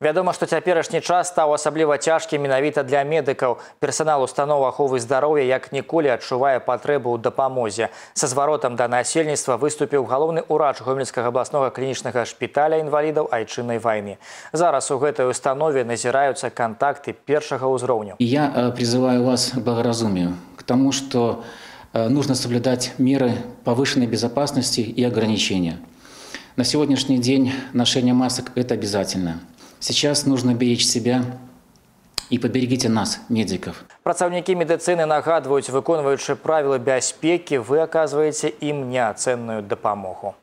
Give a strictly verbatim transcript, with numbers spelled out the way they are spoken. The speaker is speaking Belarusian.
Вядома, што цяперашні час стаў асабліва цяжкім менавіта для медыкаў. Персанал устаноў аховы здароўя як ніколі адчувае патрэбу ў дапамозе. Са зваротам да насельніцтва выступіў галоўны ўрач Гомельскага абласнога клінічнага шпіталя інвалідаў айчыннай вайны. Зараз у гэтай установе назіраюцца кантакты першага ўзроўню. Я призываю вас к благоразумию, к тому, что нужно соблюдать меры повышенной безопасности и ограничения. На сегодняшний день ношение масок – это обязательно. Сейчас нужно беречь себя и поберегите нас, медиков. Працаўнікі медыцыны нагадваюць, выконваючы правілы бяспекі, вы аказваеце ім неацэнную дапамогу.